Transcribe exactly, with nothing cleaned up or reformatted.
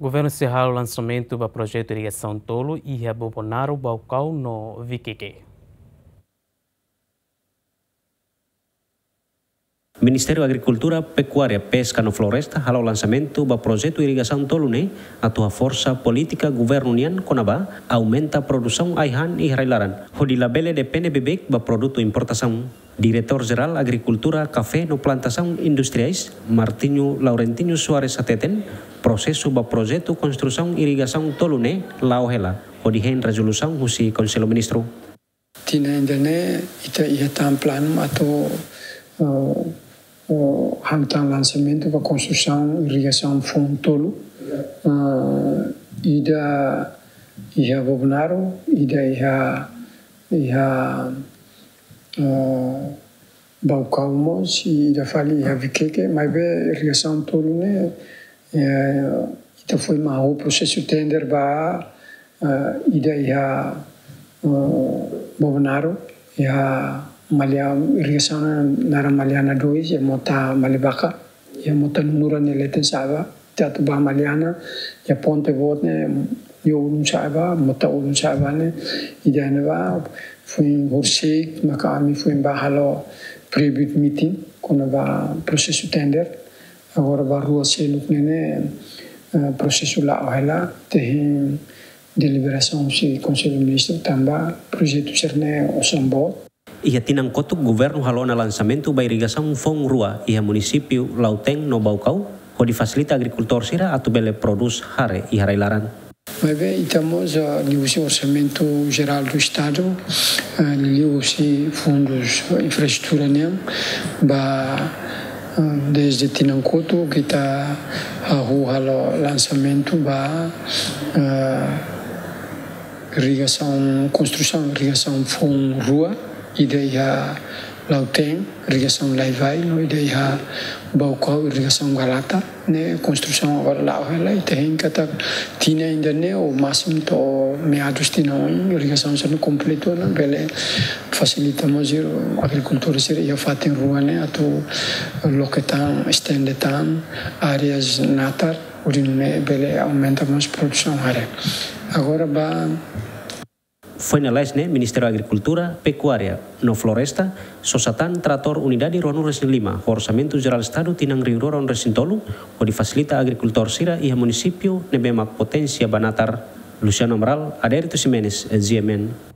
Governu sei halo lansamentu ba projetu irrigasaun tolu iha Bobonaro, Baucau no Viqueque. Ministériu Agrikultura, Pekuária, Peska no Floresta halo lansamentu ba projetu irrigasaun tolu ne'e atu haforsa polítika governu nian kona-ba aumenta produsaun ai-han iha rai-laran, hodi labele depende beibeik ba produtu importasaun. Diretór Jerál Agrikultura, Kafé no Plantasaun Industriais, Martinho Laurentinho Soares hateten, prosesu ba projetu konstrusaun irrigasaun tolu ne'e la'o hela, hodi hein rezolusaun husi Konsellu Ministru. Tinan ida-ne'e ita iha tan planu atu, eh, eh, halo tan lansamentu ba konstrusaun irrigasaun foun tolu. Eh, ida iha Bobonaro, ida iha, iha, eh, Baucau mós, i ida fali iha Viqueque, maibé irrigasaun tolu ne'e, eh, ita foin mak halo prosesu tender ba, eh, ida iha, eh, Bobonaro, iha Malia-, irrigasaun naran Maliana dois, iha mota Malibaca, iha mota Nunura nia leten sa'e ba, atu ba Maliana, iha ponte boot ne'e, iha ulun sa'e ba, mota ulun sa'e ba ne'e, ida-ne'ebá, foin horisehik, maka ami foin ba halo pre-bid meeting, kona-ba prosesu tender. Agora ba rua seluk ne'e ne'e, eh, prosesu la'o hela, ita hein deliberasaun husi Konsellu Ministru tanba projetu sira-ne'e osan boot. Iha tinan kotuk governu halo ona lansamentu ba irrigasaun foun rua iha munisípiu Lautém no Baucau, hodi fasilita agrikultór sira atu bele prodús hare iha rai-laran. Maibé ita mós, ah, liuhusi Orsamentu Jerál do Estadu, ah, liuhusi fundus infraestrutura nian, ba, ah, dezde tinan kotuk ita hahú halo lansamentu ba, ah, irrigasaun, konstrusaun irrigasaun foun rua, ida iha Lautém, irrigasaun Laivai, no ida iha Baucau, irrigasaun Galata, ne'e konstrusaun agora la'o hela, ita hein katak tinan ida-ne'e ou másimu to'o meadus tinan oin, irrigasaun sira-ne'e kompletu ona, bele fasilita mós agrikultór sira iha fatin rua ne'e atu loke tan, estende tan áreas natar, hodi nune'e bele aumenta mós produsaun hare. Agora ba Foin lalais ne'e, Ministériu Agrikultura, Pekuária no Floresta sosa tan tratór unidade ruanulu resin lima, Orsamentu Jerál Estadu tinan rihun rua ruanulu resin tolu, hodi fasilita agrikultór sira iha munisípiu ne'ebé mak poténsia ba natar. Luciano Amaral, Adérito Ximenes, G M N.